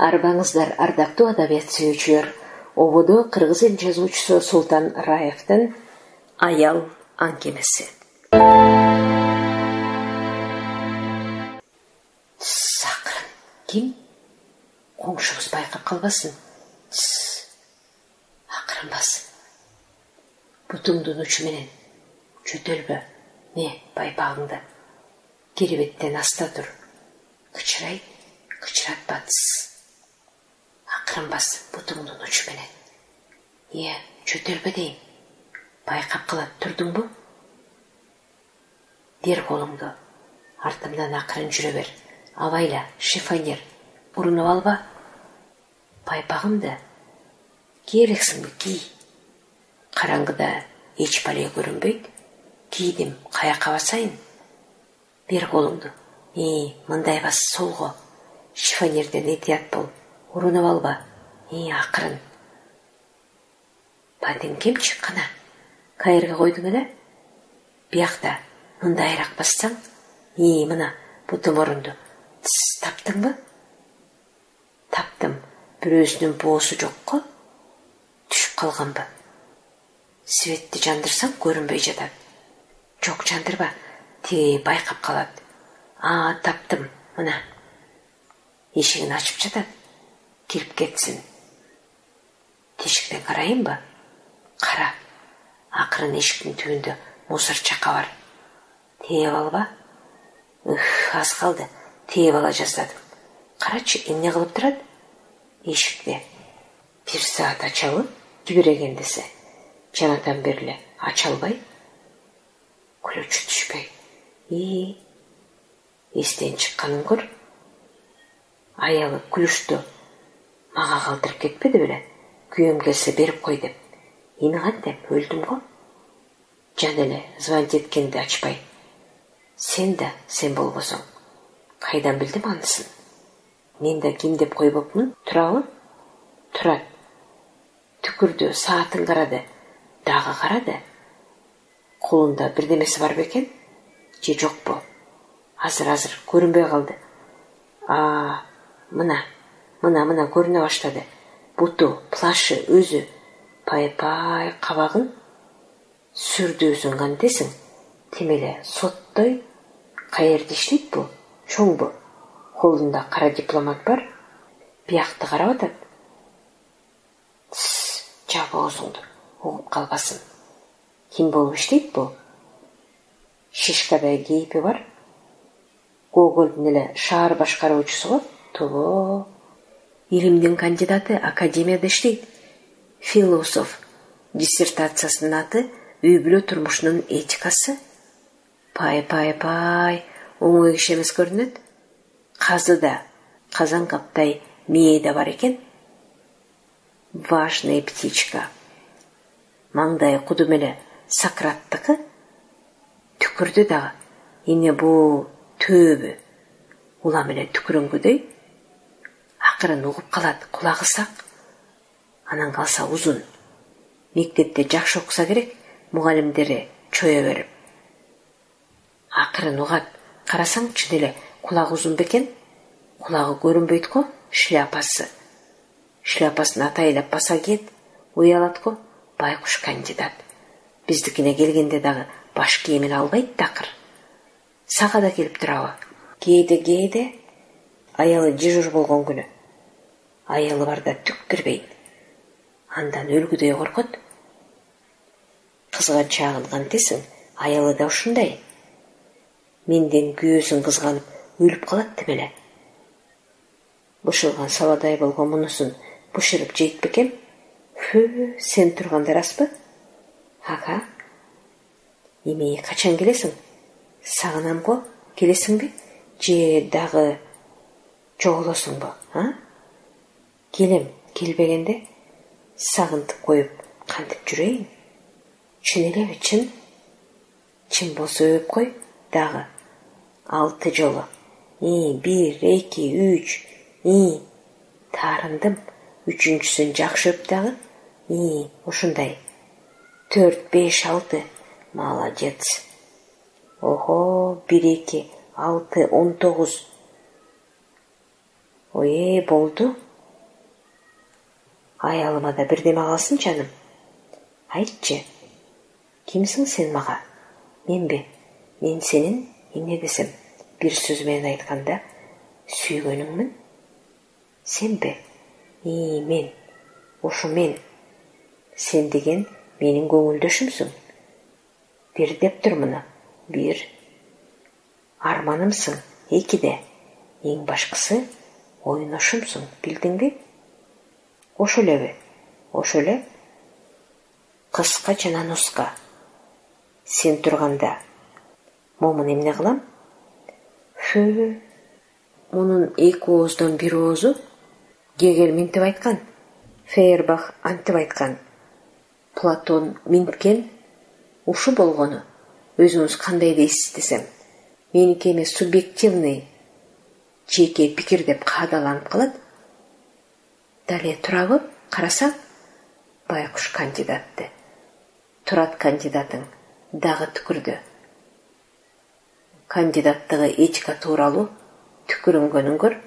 Арбаңыздар, ардактуу адабият сүйүүчүлөр. Ободо кыргыз эл жазуучусу Султан Раевдин аял аңгемеси. Сакырын. Ким? Коңшубуз байкап калбасын. Акырын бас. Бутуңдун учу менен жөтөлбө. Не, байпагыңды. Керебеттен аста тур. Кычырай, кычыратпа. Акырын бас бутуңдун учу менен. Жөтөлбө дейм. Байкап калат, турдуңбу? Бер колуңду. Артымдан акырын жүрө бер. Абайла, шифонер. Урунуп алба. Байпагымды керексиңби кий. Караңгыда эч бале көрүнбөйт. Кийдим, каяка басайын? Бер колуңду. Мындай бас, солго. Шифонерден этият бол. Урунуп алба. Акырын. Бадеңкемчи кана. Кайерге койдуң эле? Биякта мындайраак бассаң. Мына бутум орунду. Таптыңбы? Таптым. Бирөөсүнүн боосу жокко. Түшүп калганбы? Светти жандырсаң көрүнбөй жатат. Жок, жандырба. Тиги байкап калат. Таптым. Мына. Эшигин ачып жатат. Кирип кетсин. Тешиктен карайынбы? Кара. Акырын эшиктин түбүндө мусор чака бар. Тээп алба? Аз калды. Тээп ала жаздадым. Карачы, эмне кылып турат? Эшикте. 1 саат ачабы? Жибереген десе. Жанатан берле ача албай. Күлөчү түшпөй. Эстен чыкканын көр. Аялы күлүштү мага калтырып кетпеди беле? Күйөөм келсе берип кой деп. Эми кантем, өлдүм го. Жан эле звонить эткенди ачпай. Сен да сен болбосоң. Кайдан билдим анысын? Мен да ким деп койбопмун? Турабы? Турат. Түкүрдү, саатын карады. Дагы карады. Колунда бирдемеси бар бекен? Же жокпу? Азыр көрүнбөй калды. Мына көрүнө баштады. Буту, плашы, өзү. Пай, кабагын. Сүрдүүсүң кантесиң? Темеле соттой. Каерде иштейт бу? Чоңбу? Колунда кара дипломат бар. Биякты карап атат. Жап оозуңду. Угуп калбасын. Ким болуп иштейт бу? Шишкадай кейпи бар. Гогольдун эле шаар башкаруучусу го. Тобо. Илимдин кандидаты, академияда иштейт. Философ. Диссертациясынын аты үй бүлө турмушунун этикасы. Пай. Оңой киши эмес көрүнөт. Казыда, казан каптай мээ да бар экен. Важная птичка. Маңдай кудум эле Сократтыкы. Түкүрдү дагы. Эмне бу төбү? Улам эле түкүрөңгүдөй. Акырын угуп калат, кулагы сак. Анан калса узун. Мектепте жакшы окуса керек, мугалимдери чоя берип. Акырын угат. Карасаң чын эле кулагы узун бекен. Кулагы көрүнбөйт го, шляпасы. Шляпасын атайлап баса кет, уялат го. Байкуш кандидат. Биздикине келгенде дагы баш кийимин албайт такыр. Сага да келип турабы? Кээде. Аялы дежур болгон күнү. Аялы барда түк кирбейт. Андан өлгүдөй коркот. Кызган чагын кантесиң? Аялы да ушундай. Менден күйөөсүн кызганып өлүп калат демеле. Бышылган саладай болгон мунусун бышырып жейт бекен? Сен турганда распы? Ага. Эми качан келесиң? Сагынам го. Келесиңби? Же дагы жоголосуңбу? Келем, келбегенде сагынтып коюп кантип жүрөйүн? Чын элеби, чын? Чын болсо өп кой. Дагы 6 жолу. 1, 2, 3. Таарындым. 3-үчүсүн жакшы өп дагы. Ушундай. 4, 5, 6. Молодец. Ого, 1, 2, 6, 19. Болду. Аялыма да бирдеме калсын жаным. Айтчы, кимсиң сен мага? Менби? Мен сенин эмне десем, бир сөз менен айтканда сүйгөнүңмүн. Сенби? Мен. Ошо мен. Сен деген менин көңүлдөшүмсүң. Бир деп тур муну. Бир. Арманымсың. Экиде. Эң башкысы оюношумсуң. Билдиңби? Ошо элеби? Ошо эле. Кыска жана нуска. Сен турганда момун эмне кылам? Фу. Мунун эки ооздон бир оозу Гегель минтип айткан, Фейербах антип айткан. Платон минткен ушу болгону. Өзүңүз кандай дейсиз десем, меники эмес субъективный жеке пикир деп каадаланып калат. Дале турабы? Карасаң, байкуш кандидатты. Турат кандидатың дагы түкүрдү. Кандидаттыгы этика тууралуу түкүрүнгөнүн көр.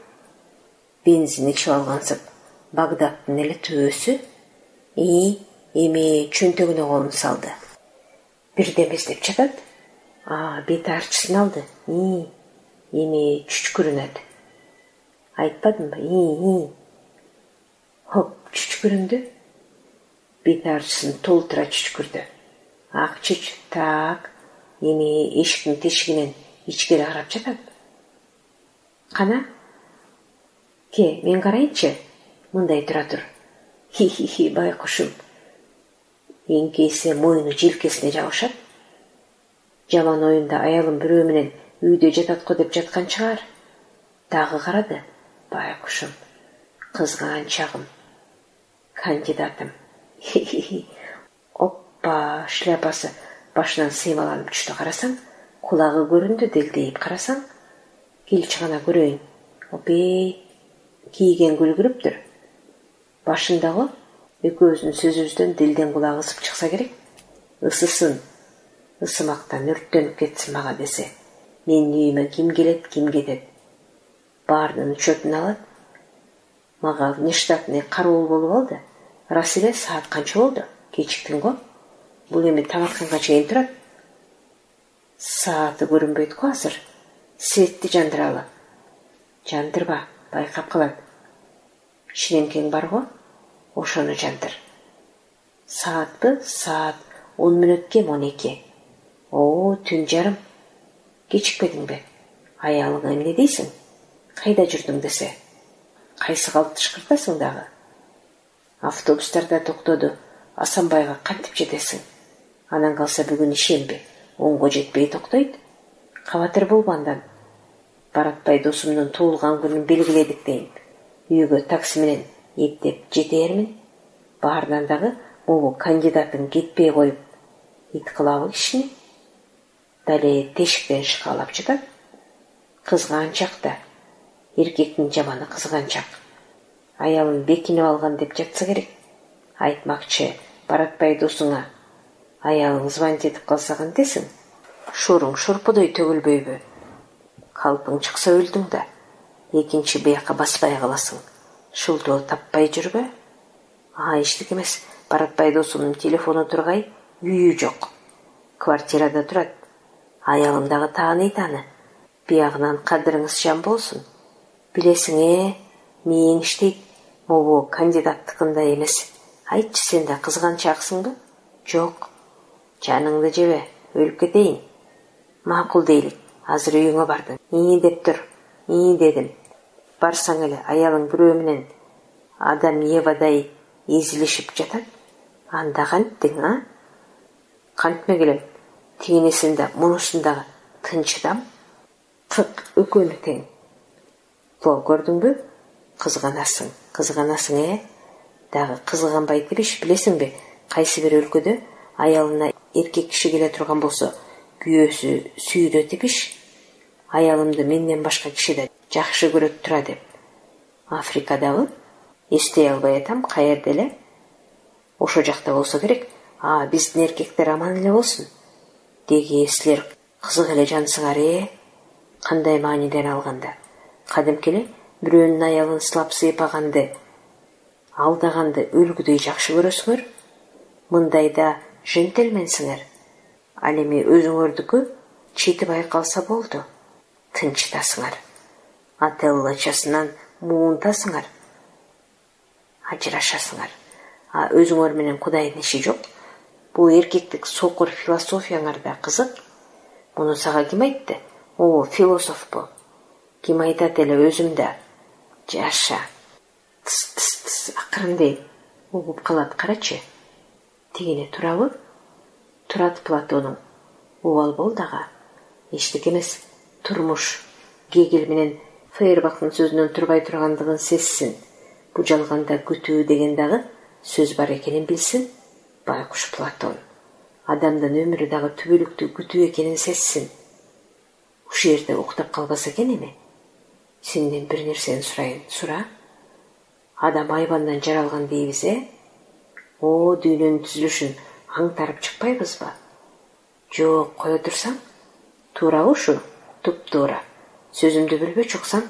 Бензин ичип алгансып, Багдадтын эле түбөсү эме чөнтөгүнө колун салды. Бирдеме издеп жатат. Бет арчысын алды. Эме чүчкүрүнөт. Айтпадымбы? Хоп, чүчкүрүндү. Бет арчысын толтура чүчкүрдү. Ак чүч, так. Эме эшиктин тешигинен ичкери карап жатат. Кана? Ке, мен карайынчы. Мындай тура тур. Хи-хи-хи, байкушум. Эңкейсе моюну желкесине жабышат. Жаман оюнда аялым бирөө менен үйдө жатат го деп жаткан чыгар. Дагы карады. Байкушум. Кызганчагым. Кандидатым. Хи-хи-хи. Оппа, шляпасы башынан сыймаланып түштү. Карасаң, кулагы көрүндү. Делдейип карасаң, келчи гана көрөйүн. Опей, кийген күлгүрүптүр. Башындагы экөөбүздүн сөзүбүздөн дилден кулагы ысып чыкса керек. Ысысын, ысымактан өрттөнүп кетсин мага десе. Менин үйүмө ким келет, ким кетет. Баарынын учетун алат. Мага внештатный кароол болуп алды. Рас эле, саат канча болду? Кечиктин го. Бул эми тамакканга чейин турат. Сааты көрүнбөйт го азыр. Светти жандыралы. Жандырба, байкап калат. Ширемкең бар го, ошону жандыр. Саатпы? Саат 10 мүнөт кем 12. Түн жарым. Кечикпедиңби? Аялыңа эмне дейсиң? Кайда жүрдүң десе. Кайсы калып тышкыртасың дагы? Автобустарда токтоду. Асанбайга кантип жетесиң? Анан калса бүгүн ишемби? 10го жетпей токтойт. Кабатыр болбандан. Баратбай досумдун туулган күнүн белгиледик дейин. Үйгө такси менен эптеп жетээрмин. Баарынан дагы могу кандидатын кетпей коюп ит кылабы кишини. Дале тешиктен шыкалап жатат. Кызганчак да. Эркектин жаманы кызганчак. Аялын бекинип алган деп жатса керек. Айтмакчы, Баратбай досуңа аялың звонить этип калса кантесиң? Шуруң шурпудой төгүлбөйбү? Калпың чыкса өлдүң да. Экинчи бияка баспай каласың. Шултоо таппай жүрбө? Эчтеке эмес. Баратбай досумдун телефону тургай, үйү жок. Квартирада турат. Аялым дагы тааныйт аны. Биягынан кадырыңыз жан болсун. Билесиң, мээң иштейт. Могу кандидаттыкындай эмес. Айтчы, сен да кызганчаксыңбы? Жок. Жаныңды жебе, өлүп кетейин. Макул дейлик. Азыр үйүңө бардың. Деп тур. Дедим. Барсаң эле аялың бирөө менен Адам Евадай эзилишип жатат. Анда канттың, Кантмегилем. Тигинисинде, мунусундагы тынчыдам. Кык өкөнү тең. Көрдүңбү? Кызганасың, Дагы кызганбайт депиш, билесиңби? Кайсы бир өлкөдө аялына эркек киши келе турган болсо, күйөөсү сүйдө тепиш. Аялымды менден башка киши да жакшы көрөт тура деп. Африкадагы, эстей албай атам, каерде эле? Ошо жакта болсо керек. Биздин эркектер аман эле болсун. Деги силер кызык эле жансыңар, Кандай мааниден алганда. Кадимки эле бирөөнүн аялын сылап сыйпаганды алдаганды өлгүдөй жакшы көрөсүңөр, мындайда жентелменсиңер. Ал эми өзүңөрдүкү чети байкалса болду. Тынчтасыңар. Ателлачасынан муунтасыңар. Ажырашасыңар. Өзүңөр менен Кудайдын иши жок. Бул эркектик сокур философияңарда кызык. Муну сага ким айтты? Философ бу. Ким айтат эле өзүмдө. Жаша. Тс акырындай угуп калат, карачы. Тигине турабы? Турат Платонуң. Убал бол дагы. Эчтеке эмес. Турмуш. Гегель менен Фейербахтын сөзүнөн турбай тургандыгын сезсин. Бу жалганда күтүү деген дагы сөз бар экенин билсин. Байкуш Платон. Адамдын өмүрү дагы түбөлүктүү күтүү экенин сезсин. Ушул жерде уктап калбаса экен эми. Сенден бир нерсени сурайын. Сура. Адам айбандан жаралган дейбиз, дүйнөнүн түзүлүшүн аңтарып чыкпайбызбы? Жок, кое турсаң. Туурабы ушу? Туп-туура. Сөзүмдү билбөчү уксаң,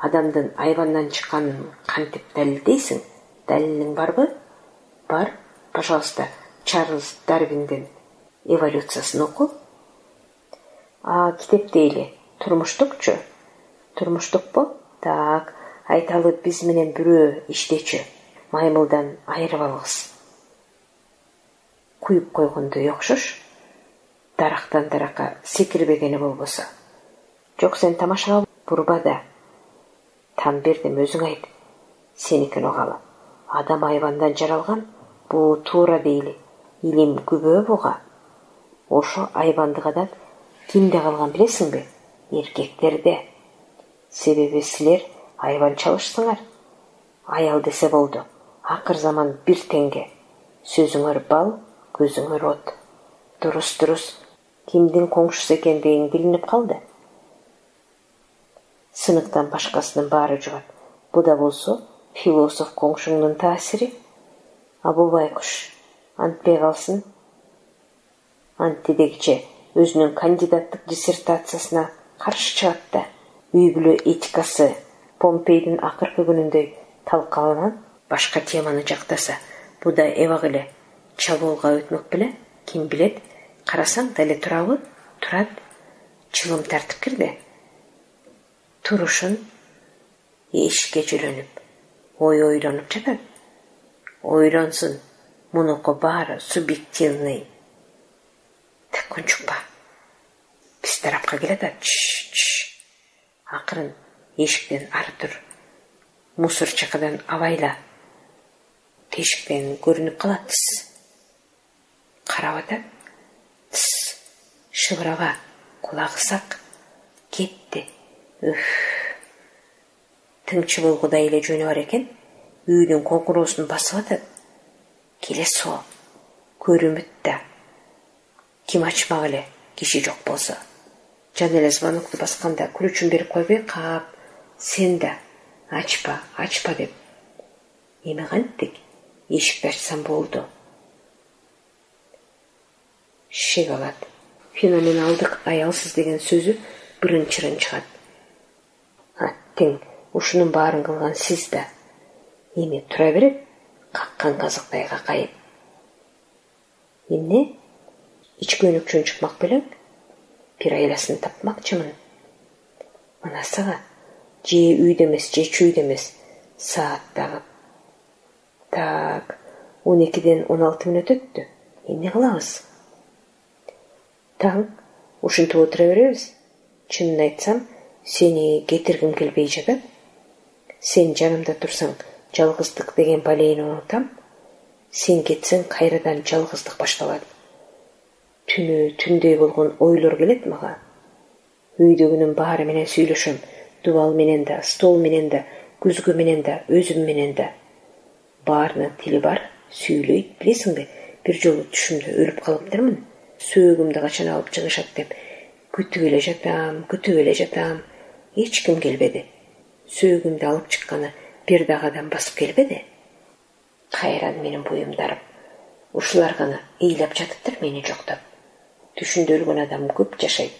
адамдын айбандан чыкканын кантип далилдейсиң? Далилиң барбы? Бар. Пожалуйста, Чарльз Дарвиндин эволюциясын оку. Китеп дейли. Турмуштукчу? Турмуштукпу? Так, айталы биз менен бирөө иштечү. Маймылдан айырып алгыс. Куюп койгондой окшош. Дарактан даракка секирбегени болбосо. Жок, сен тамашалап бурбада. Там бердим, өзүң айт. Сеникин угалы. Адам айбандан жаралган, бул туура дейли. Илим күбө буга. Ошо айбандык адат кимде калган билесиңби? Эркектерде. Себеби силер айбанчалышсыңар. Аял десе болду. Акыр заман бир теңге. Сөзүңөр бал, көзүңөр от. Дурус. Кимдин коңшусу экендигиң билинип калды. Сыныктан башкасынын баары жугат. Бу да болсо философ коңшуңдун таасири. Бул байкуш антпей калсын. Антидегиче өзүнүн кандидаттык диссертациясына каршы чыгат да. Үй бүлө этикасы Помпейдин акыркы күнүндөй талкаланан башка теманы жактаса, бу да эбак эле чабуулга өтмөк беле? Ким билет? Карасаң деле турабы? Турат. Чылым тартып кирди. Турушун эшикке жөлөнүп, ойлонуп жатат. Ойлонсун. Мунуку баары субъективный. Күнчукпа. Биз тарапка келет. Акырын эшиктен ары тур. Мусор чакадан абайла. Тешиктен көрүнүп калат. Карап атат. Шыбыраба. Кулагы сак. Кетти. Тыңчы болгудай эле жөнү бар экен. Үйдүн коңкуроосун басып атат. Келе со. Көрүмүт да. Ким ачмак эле, киши жок болсо. Жан эле звонокту басканда ключун берип койбой кап, сен да ачпа деп. Эми кантип? Эшикти ачсам болду. Шек алат. Феноменалдык аялсыз деген сөзү бырын-чырын чыгат. Тең ушунун баарын кылган сиз да. Эми тура берет, каккан казыктай какайып. Эмне? Ички өнүкчөн чыкмак белең? Бир айласын тапмакчымын. Мына сага же үйдө эмес, же чүйдө эмес. Саат дагы. Так, 12ден 16 мүнөт өттү. Эмне кылабыз? Таң, ушинтип отура беребиз. Чынын айтсам, сени кетиргим келбей жатат. Сен жанымда турсаң, жалгыздык деген балейни унутам. Сен кетсең, кайрадан жалгыздык башталат. Түнү түндөй болгон ойлор келет мага. Үйдөгүнүн баары менен сүйлөшөм. Дубал менен да, стол менен да, күзгү менен да, өзүм менен да. Баарынын тили бар, сүйлөйт, билесиңби? Бир жолу түшүмдө өлүп калыптырмын. Сөөгүмдү качан алып чыгышат деп күтүп эле жатам. Эч ким келбеди. Сөөгүмдү алып чыкканы бир дагы адам басып келбеди. Кайран менин буюмдарым. Ушулар гана ыйлап жатыптыр мени жоктоп. Түшүндө өлгөн адам көп жашайт.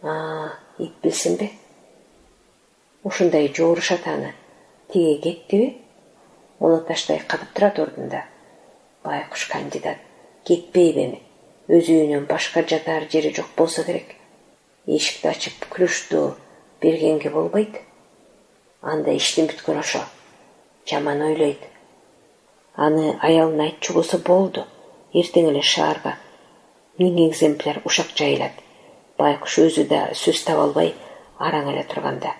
Ит билсинби? Ушундай жоорушат аны. Тиге кеттиби? Уну таштай катып турат ордунда. Байкуш кандидат кетпейби эми? Өз үйүнөн башка жатар жери жок болсо керек. Эшикти ачып күлүштү бергенге болбойт. Анда иштин бүткөн ошо. Жаман ойлойт. Аны аялына айтчу болсо болду. Эртең эле шаарга 1000 экземпляр ушак жайылат. Байкуш өзү да сөз таба албай араң эле турганда.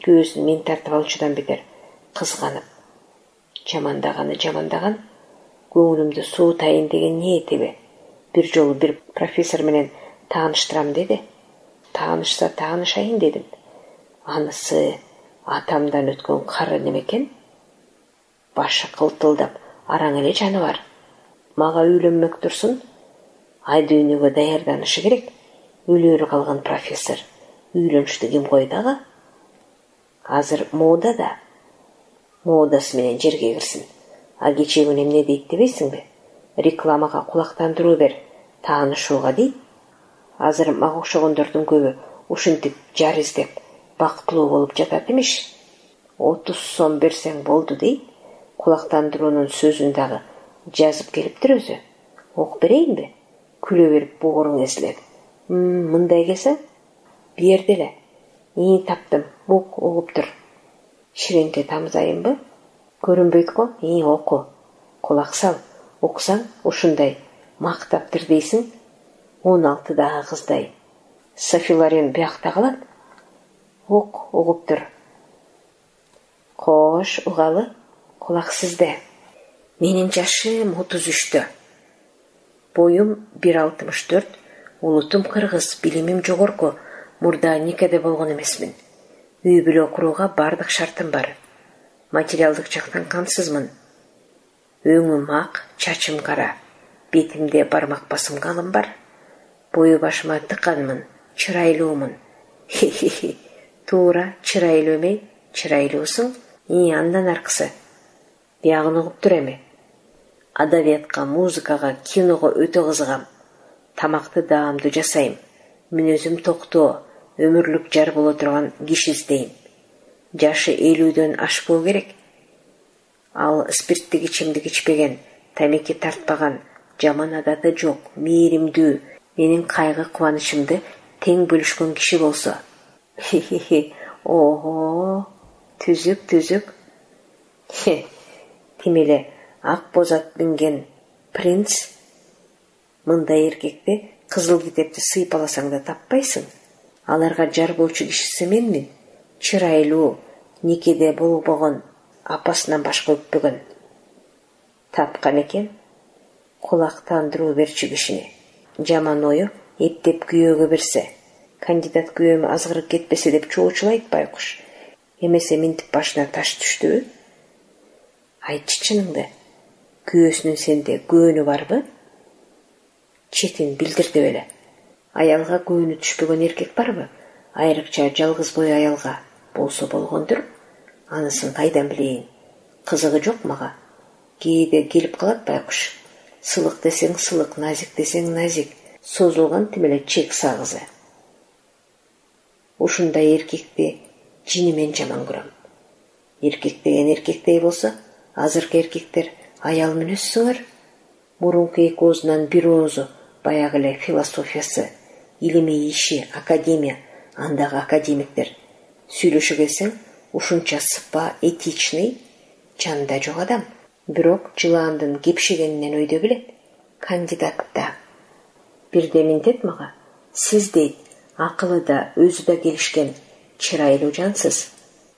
Күйөөсүн мен тартып алчудан бетер кызганып. Жамандаган, көңүлүмдү суутайын деген ниетиби. Бир жолу бир профессор менен тааныштырам деди. Таанышса таанышайын дедим. Анысы атамдан өткөн кары немекен? Башы кылтылдап, араң эле жаныбар. Мага үйлөнмөк турсун. Ай дүйнөгө даярданышы керек. Өлөрү калган профессор. Үйлөнүштү ким койду ага? Азыр мода да. Модасы менен жерге кирсин. А кечээ күнү эмне дейт дебейсиңби? Рекламага кулактандыруу бер, таанышууга дейт. Азыр мага окшогондордун көбү ушинтип жар издеп, бактылуу болуп жатат эмиш. 30 сом берсең болду дейт. Кулактандыруунун сөзүн дагы жазып келиптир өзү. Ок берейинби? Күлө берип бооруң эзилет. Мындай келсең, берди эле. Таптым, бук угуп тур. Ширенте тамызайынбы? Көрүнбөйт го? Оку. Кулак сал. Оксаң ушундай мактаптыр дейсиң. 16дагы кыздай. Софи Лорен биякта калат. Ок угуп тур. Кош, угалы. Кулак сизде. Менин жашым 33-тө. Боюм 1,64, улутум кыргыз, билимим жогорку. Мурда никеде болгон эмесмин. Үй бүлө курууга бардык шартым бар. Материалдык жактан камсызмын. Өңүм ак, чачым кара. Бетимде бармак басым калым бар. Бою башыма тыкканмын, чырайлуумун. Туура, чырайлуу эмей, чырайлуусуң. Андан аркысы. Биягын угуп тур эми. Адабиятка, музыкага, киного өтө кызыгам. Тамакты даамдуу жасайм. Мүнөзүм токтоо, өмүрлүк жар боло турган киши издейм. Жашы 50дөн ашпоо керек. Ал спирттик ичимдик ичпеген, тамеки тартпаган, жаман адаты жок, мээримдүү, менин кайгы кубанычымды тең бөлүшкөн киши болсо. Ого, түзүк. Тим эле ак бозат минген принц. Мындай эркекти кызыл китепти сыйпаласаң да таппайсың. Аларга жар болчу кишиси менмин. Чырайлуу, никеде болбогон, апасынан башка өппөгөн. Тапкан экен. Кулактандыруу берчү кишини. Жаман ою эптеп күйөөгө берсе, кандидат күйөөмө азгырып кетпесе деп чоочулайт Байкуш. Эмесе минтип башына таш түштүбү? Айтчы чыныңды. Күйөөсүнүн сенде көөнү барбы? Четин билдир деп эле. Аялга көөнү түшпөгөн эркек барбы? Айрыкча жалгыз бой аялга болсо болгондур. Анысын кайдан билейин? Кызыгы жок мага. Кээде келип калат Байкуш. Сылык десең сылык, назик десең назик. Созулган тим эле чек сагызы. Ушундай эркекти жини мен жаман көрөм. Эркек деген эркектей болсо, азыркы эркектер аял мүнөзсүңөр. Мурунку эки оозунан бир оозу баягы эле философиясы, илимий иши, академия, андагы академиктер. Сүйлөшө келсең, ушунча сыпа, этичный, жанында жок адам. Бирок жылаандын кепшигенинен өйдө билет. Кандидатта. Бирде минтет мага. Сиз дейт, акылы да, өзү да келишкен, чырайлуу жансыз.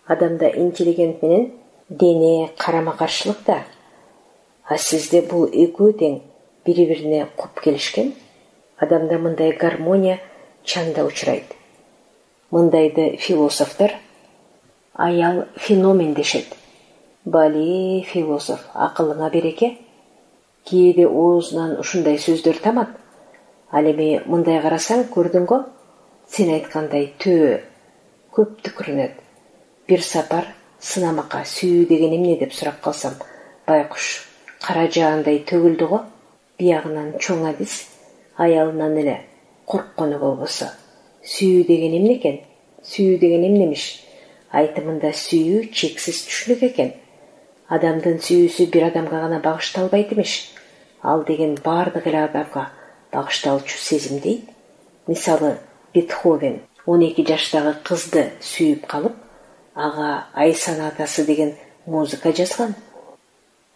Адамда интеллигент менен дене карама каршылык да. А сизде бул экөө тең бири-бирине куп келишкен. Адамда мындай гармония чанда учурайт. Мындайды философтор аял феномен дешет. Бали философ, акылыңа береке. Кээде оозунан ушундай сөздөр тамат. Ал эми мындай карасаң, көрдүңгө, сен айткандай төө көп түкүрүнөт. Бир сапар сынамакка сүйүү деген эмне деп сурап калсам, Байкуш кара жаандай төгүлдү го. Биягынан чоң адис, аялынан эле корккону болбосо. Сүйүү деген эмне экен? Сүйүү деген эмнемиш? Айтымында сүйүү чексиз түшүнүк экен. Адамдын сүйүүсү бир адамга гана багышталбайт эмеш. Ал деген бардык эле адамга багышталчу сезим дейт. Мисалы, Бетховен 12 жаштагы кызды сүйүп калып, ага Ай сонатасы деген музыка жазган.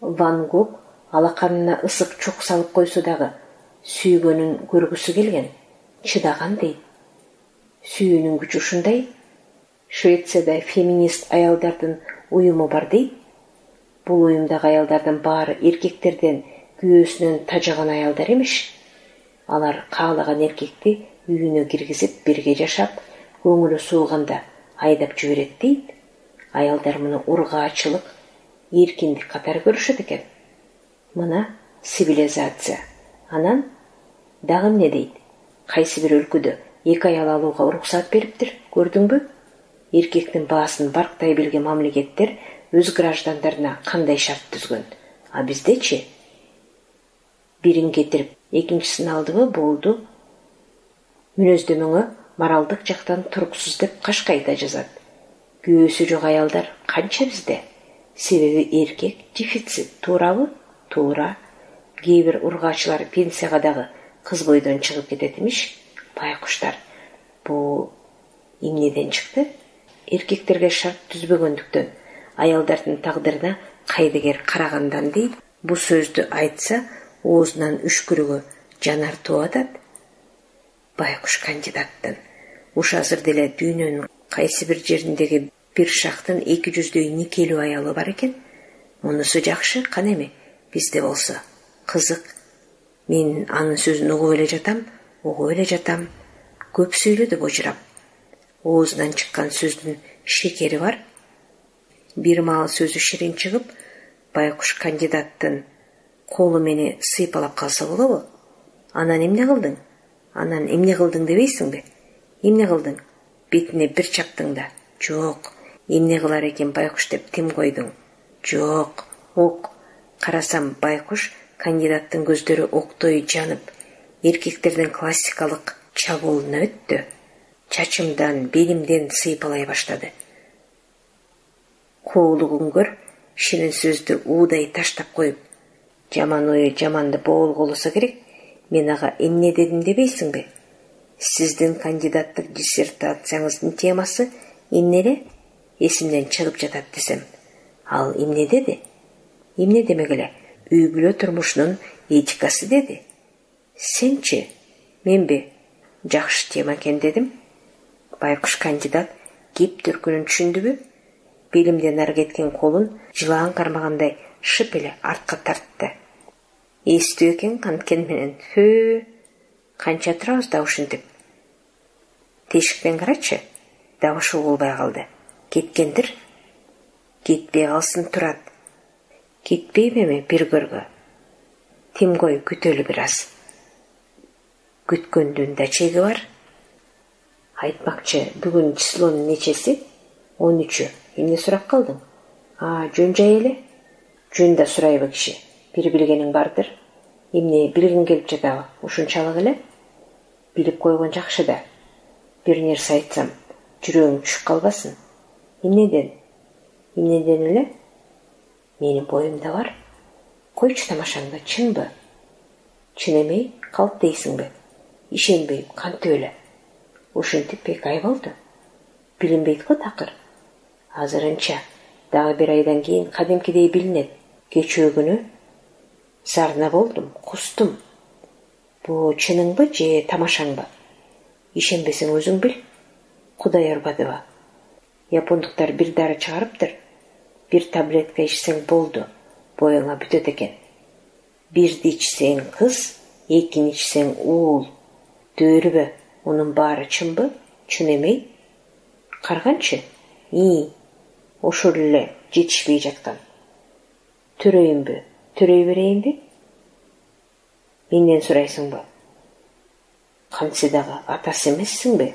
Ван Гог алаканына ысык чук салып койсо дагы сүйгөнүн көргүсү келген, чыдаган дейт. Сүйүүнүн күчү ушундай. Швецияда феминист аялдардын уюму бар дейт. Бул уюмдагы аялдардын баары эркектерден күйөөсүнөн тажаган аялдар эмеш. Алар каалаган эркекти үйүнө киргизип, бирге жашап, көңүлү сууганда айдап жиберет дейт. Аялдар муну ургаачылык, эркиндик катары көрүшөт экен. Мына цивилизация. Анан дагы эмне дейт? Кайсы бир өлкөдө 2 аял алууга уруксат бериптир, көрдүңбү? Эркектин баасын барктай билген мамлекеттер өз граждандарына кандай шарт түзгөн? А биздечи? Бирин кетирип, экинчисин алдыбы, болду. Мүнөздөмөңө моралдык жактан туруксуз деп кашкайта жазат. Күйөөсү жок аялдар канча бизде? Себеби эркек дефицит, туурабы? Туура. Кээ бир ургаачылар пенсияга дагы кыз бойдон чыгып кетет эмиш. Байкуштар, бул эмнеден чыкты? Эркектерге шарт түзбөгөндүктөн, аялдардын тагдырына кайдыгер карагандан дейт. Бул сөздү айтса, оозунан үшкүрүгө жанар тууп атат. Байкуш кандидаттын уш азыр деле дүйнөнүн кайсы бир жериндеги бир шактын 200дөй никелүү аялы бар экен. Мунусу жакшы, кана эми бизде болсо кызык. Мен анын сөзүн угуп эле жатам, көп сүйлөдү божурап. Оозунан чыккан сөздүн шекери бар. Бир маал сөзү ширин чыгып, байкуш кандидаттын колу мени сыйпалап калса болобу? Анан эмне кылдың дебейсиңби? Эмне кылдың? Бетине бир чаптың да. Жок. Эмне кылар экен байкуш деп тим койдуң? Жок. Ок. Карасам, байкуш кандидаттын көздөрү октой жанып, эркектердин классикалык чабуулуна өттү. Чачымдан, белимден сыйпалай баштады. Коолугуңгөр ширин сөздү уудай таштап коюп, жаман ою жаманды боолголосо керек. Мен ага эмне дедим дебейсиңби? Сиздин кандидаттык диссертацияңыздын темасы эмне эле? Эсимден чыгып жатат десем. Ал эмне деди? Эмне демек эле? Үй бүлө турмушунун этикасы деди. Сенчи? Менби? Жакшы тема экен дедим. Байкуш кандидат кеп төркүнүн түшүндүбү? Белимден ары кеткен колун жылаан кармагандай шып эле артка тартты. Эстүү экен канткен менен. Канча турабыз да ушинтип. Тешиктен карачы. Дагы ушул болбой калды. Кеткендир. Кетпей калсын турат. Кетпейм эми бир көргө. Тим кой, күтөлү бир аз. Күткөндүн да чеги бар. Айтмакчы, бүгүн числонун нечеси? 13. Эмне сурап калдың? Жөн жай эле. Жөн да сурайбы киши. Бир билгениң бардыр. Эмне билгиң келип жатабы? Ушунчалык эле? Билип койгон жакшы да. Бир нерсе айтсам, жүрөгүң түшүп калбасын. Эмнеден эле? Менин боюмда бар. Койчу тамашаңды, чынбы? Чын эмей, калп дейсиңби? Ишенбейм, кантип эле? Ушинтип 2 ай болду. Билинбейт го такыр. Азырынча, дагы 1 айдан кийин кадимкидей билинет. Кечөө күнү зарна болдум, кустум. Бу чыныңбы же тамашаңбы? Ишенбесең өзүң бил. Кудай урбадыбы? Япондуктар бир дары чыгарыптыр. 1 таблетка ичсең болду, боюңа бүтөт экен. 1 ичсең кыз, 2 ичсең уул. Дөрүбү? Унун баары чынбы? Чын эмей? Карганчы? Ошол эле жетишпей жаткан. Төрөйүнбү? Төрөй берейинби? Менден сурайсыңбы? Кантсе дагы атасы эмессиңби?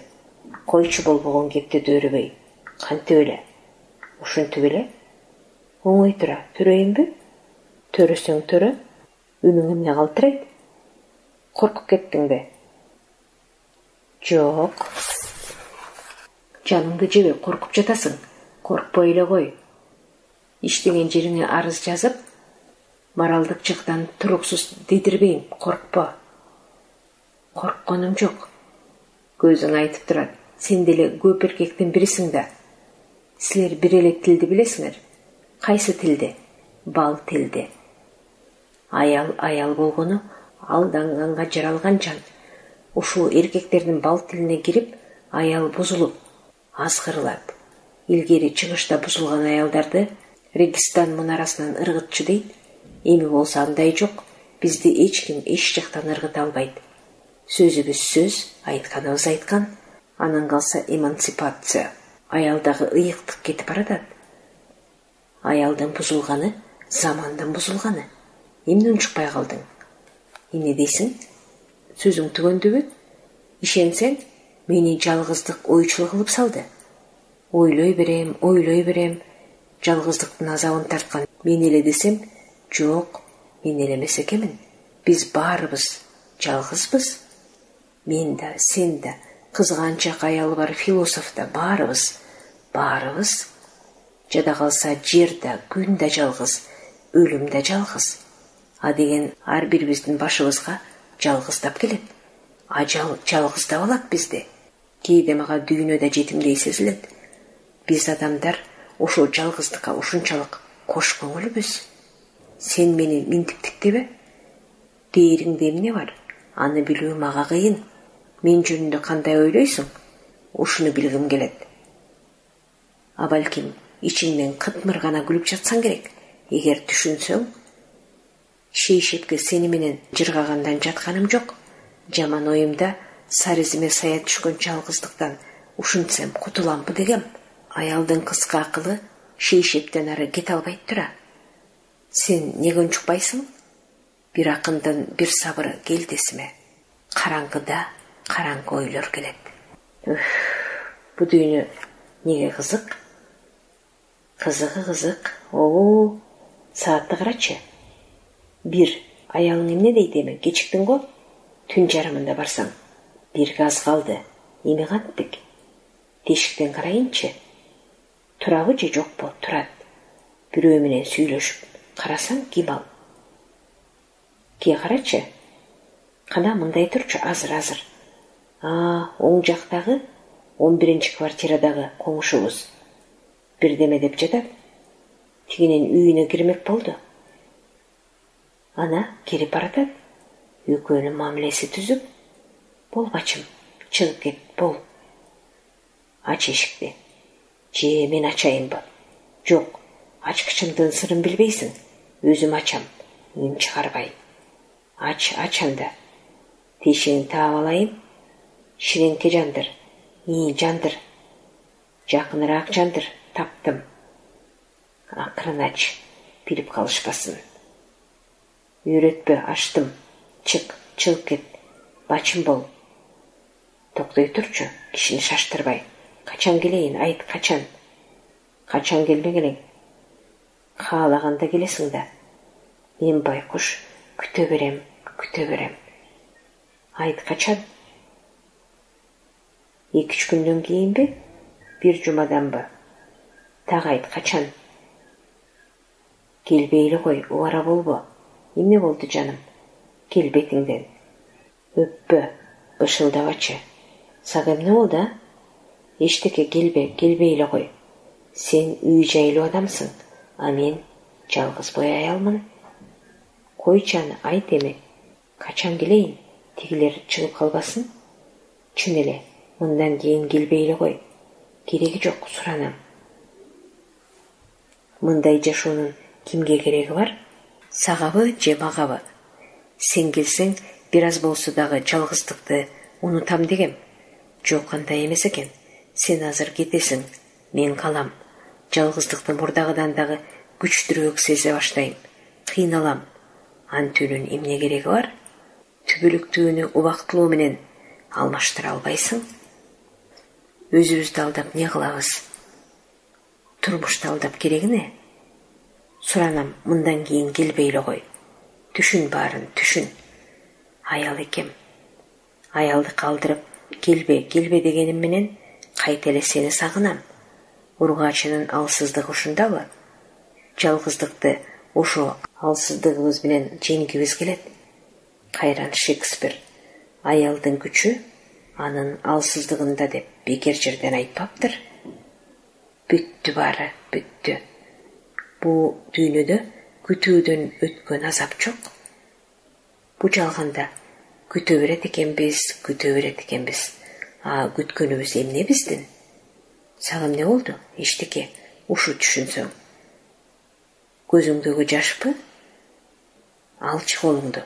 Койчу болбогон кепти дөөрүбөй. Кантип эле? Ушинтип эле? Оңой тура, төрөйүнбү? Төрөсөң төрө. Үнүң эмне калтырайт? Коркуп кеттиңби? Жок. Жаныңды жеби, коркуп жатасың. Коркпой эле кой. иштеген жериңе арыз жазып, моралдык жактан туруксуз дедирбейм, коркпо. Коркконум жок. Көзүң айтып турат. Сен деле көп эркектин бирисиң да. Силер бир эле тилди билесиңер. Кайсы тилди? Бал тилди. Аял болгону алданганга жаралган жан. Ушул эркектердин бал тилине кирип, аял бузулуп, азгырылат. Илгери чыгышта бузулган аялдарды Регистан мунарасынан ыргытчы дейт. Эми болсо андай жок. Бизди эч ким эч жактан ыргыта албайт. Сөзүбүз сөз, айтканыбыз айткан. Анан калса эмансипация. Аялдагы ыйыктык кетип баратат. Аялдын бузулганы, замандын бузулганы. Эмне унчукпай калдың? Эмне дейсиң? Сөзүң түгөндөбү? Ишенсең, мени жалгыздык ойчул кылып салды. Ойлой берем, жалгыздыктын азабын тарткан мен эле десем, жок, мен эле эмес экенмин. Биз баарыбыз жалгызбыз. Мен да, сен да, кызганчак аялы бар философ да баарыбыз. Жада калса жер да, күн да жалгыз, өлүм да жалгыз. А деген ар бирибиздин башыбызга жалгыздап келет. Ажал жалгыздап алат бизди. Кээде мага дүйнөдө жетимдей сезилет. Биз адамдар ошол жалгыздыкка ушунчалык кош көңүлбүз. Сен мени минтиптиктебе? Дээриңде эмне бар? Аны билүү мага кыйын. Мен жөнүндө кандай ойлойсуң? Ушуну билгим келет. А балким ичиңден кытмыр гана күлүп жатсаң керек. Эгер түшүнсөң, шейшепке сени менен жыргагандан жатканым жок. Жаман оюмда саризиме сая түшкөн жалгыздыктан ушинтсем кутуламбы дегем. Аялдын кыска акылы шейшептен ары кете албайт тура. Сен неге унчукпайсың? Бир акындын бир сабыры келдесиме. Караңгыда караңгы ойлор келет. Бу дүйнө неге кызык? Кызык. Саатты карачы. 1. Аялың эмне дейт эми? Кечиктиң го? Түн жарымында барсаң. 1 аз калды. Эми кантип? Тешиктен карайынчы. Турабы же жокпу? Турат. Бирөө менен сүйлөшүп. Карасаң ким ал? Ке карачы. Кана мындай турчу, азыр. Оң жактагы 11-чи квартирадагы коңшубуз. Бирдеме деп жатат. Тигинин үйүнө кирмек болду. Ана кирип баратат. Экөөнүн мамилеси түзүп. Бол бачым, чыгып кет, бол. Ач эшикти. Же мен ачайынбы? Жок, ачкычымдын сырын билбейсиң. Өзүм ачам, үн чыгарбай. Ач анда. Тешигиңди таап алайын. Ширеңке жандыр. Жандыр. Жакыныраак жандыр. Таптым. Акырын ач, билип калышпасын. Үйрөтпө, ачтым. Чыгып кет. Бачым бол. Токтой турчу, кишини шаштырбай. Качан келейин, айт, качан? Качан келбеген элең? Каалаганда келесиң да. Мен байкуш күтө берем. Айт, качан? 2-3 күндөн кийинби? 1 жумаданбы? Так айт, качан? Келбейли кой, убара болбо. Эмне болду жаным? Кел бетиңден. Өппө, бышылдабачы. Сага эмне болду, а? Эчтеке, келбейли кой. Сен үй жайлуу адамсың, а мен жалгыз бой аялмын. Койчу аны, айт эми. Качан келейин? Тигилер чыгып калбасын? Чын эле, мындан кийин келбейли кой. Кереги жок, суранам. Мындай жашоонун кимге кереги бар? Сагабы же магабы? Сен келсең, бир аз болсо дагы жалгыздыкты унутам дегем. Жок, андай эмес экен. Сен азыр кетесиң, мен калам. Жалгыздыкты мурдагыдан дагы күчтүүрөөк сезе баштайм. Кыйналам. Антүүнүн эмне кереги бар? Түбөлүктүүнү убактылуу менен алмаштыра албайсың. Өзүбүздү алдап не кылабыз? Турмушту алдап кереги не? Суранам, мындан кийин келбейли кой. Түшүн баарын, түшүн. Аял экем. Аялды калдырып, келбе дегеним менен кайта эле сени сагынам. Ургачынын алсыздыгы ушундабы? жалгыздыкты ошо алсыздыгыбыз менен жеңгибиз келет. Кайран Шекспир аялдын күчү анын алсыздыгында деп бекер жерден айтпаптыр. Бүттү баары, бүттү. Бул дүйнөдө күтүүдөн өткөн азап жок. Бу жалганда күтө берет экенбиз. Күткөнүбүз эмне биздин? Сага эмне болду? Эчтеке. Ушу түшүнсөң. Көзүңдөгү жашпы? Алчы колуңду.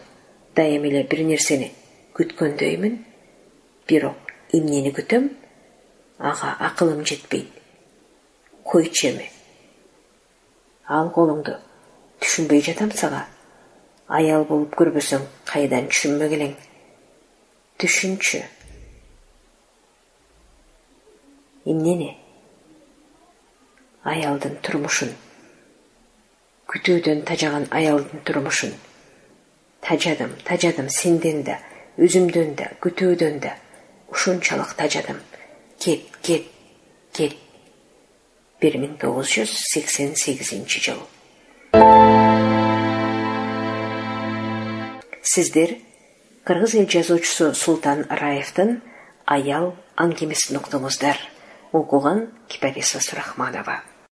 Дайым эле бир нерсени күткөндөймүн. Бирок эмнени күтөм? Ага акылым жетпейт. Койчу эми. Ал колуңду. Түшүнбөй жатам сага. Аял болуп көрбөсөң, кайдан түшүнмөк элең. Түшүнчү. Эмнени? Аялдын турмушун. Күтүүдөн тажаган аялдын турмушун. Тажадым сенден да, өзүмдөн да, күтүүдөн да. Ушунчалык тажадым. Кет. 1988 жыл. Сиздер кыргыз эл жазуучусу Султан Раевдин «Аял» аңгемесин уктуңуздар. Окуган Кипарис Сурахманова.